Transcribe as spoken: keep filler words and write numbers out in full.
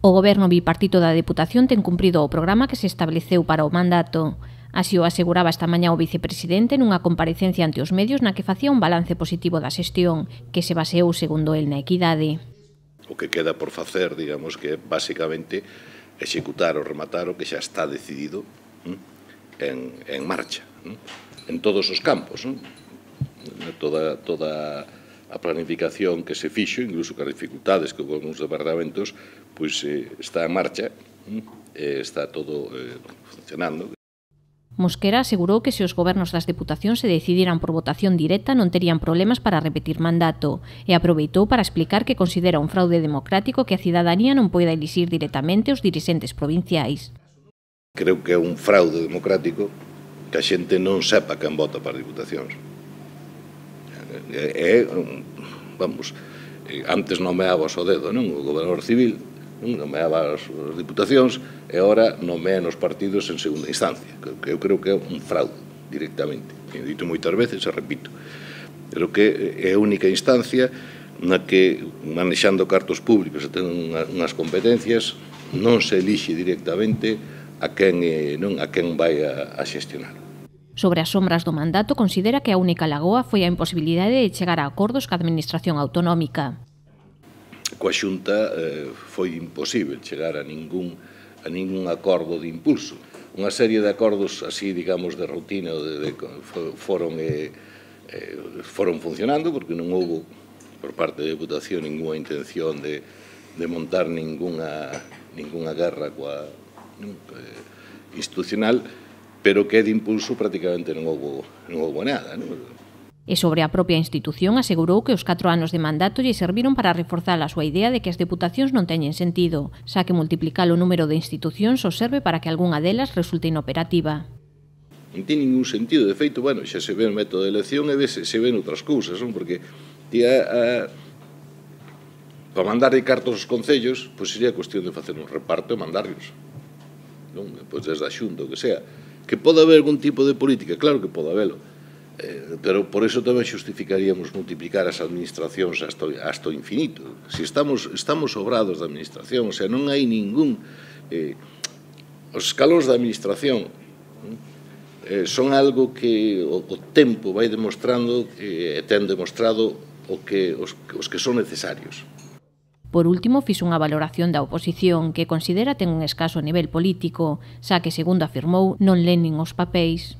O Goberno bipartito da Deputación ten cumprido o programa que se estableceu para o mandato. Así o aseguraba esta mañá o vicepresidente nunha comparecencia ante os medios na que facía un balance positivo da xestión, que se baseou, segundo el, na equidade. O que queda por facer, digamos, que é basicamente executar ou rematar o que xa está decidido en, en marcha, en todos os campos, toda, toda a planificación que se fixo, incluso que as dificultades que houve nos departamentos, pois eh, está en marcha, eh, está todo eh, funcionando. Mosquera asegurou que se os gobernos das deputacións se decidiran por votación directa non terían problemas para repetir mandato e aproveitou para explicar que considera un fraude democrático que a cidadanía non poida elixir directamente os dirixentes provinciais. Creo que é un fraude democrático que a xente non sepa quen vota para as diputacións. É, vamos, antes nomeaba o dedo, non? O gobernador civil, non? Nomeaba as diputacións e agora nomea nos partidos en segunda instancia. Eu creo que é un fraude, directamente. He dito moitas veces e repito. Creo que é a única instancia na que, manexando cartos públicos e ten unhas competencias, non se elixe directamente a quen, non, a quen vai a, a xestionar. Sobre as sombras do mandato, considera que a única lagoa foi a imposibilidade de chegar a acordos ca administración autonómica. Coa Xunta eh, foi imposible chegar a ningún, a ningún acordo de impulso. Unha serie de acordos así, digamos, de rutina de, de, foron, eh, eh, foron funcionando porque non houve por parte da Deputación ninguna intención de, de montar ninguna, ninguna guerra coa, non, eh, institucional, pero que de impulso prácticamente non houve, non houve nada. Non? E sobre a propia institución asegurou que os catro anos de mandato lle serviron para reforzar a súa idea de que as deputacións non teñen sentido, xa que multiplicar o número de institucións os serve para que algunha delas resulte inoperativa. Non ten ningún sentido, de feito, bueno, xa se ve o método de elección e se, se ven outras cousas, non? Porque tía, a, para mandar de cartos aos concellos, pois sería cuestión de facer un reparto e mandarlos, non? Pois desde a Xunta, o que sea. Que pode haber algún tipo de política, claro que pode habelo, eh, pero por eso tamén xustificaríamos multiplicar as administracións hasta, hasta o infinito. Se estamos, estamos sobrados de administración, o sea, non hai ningún... Eh, os escalóns da administración eh, son algo que o, o tempo vai demostrando e eh, ten demostrado o que, os, os que son necesarios. Por último, fixo unha valoración da oposición que considera ten un escaso nivel político, xa que, segundo afirmou, non len nin os papéis.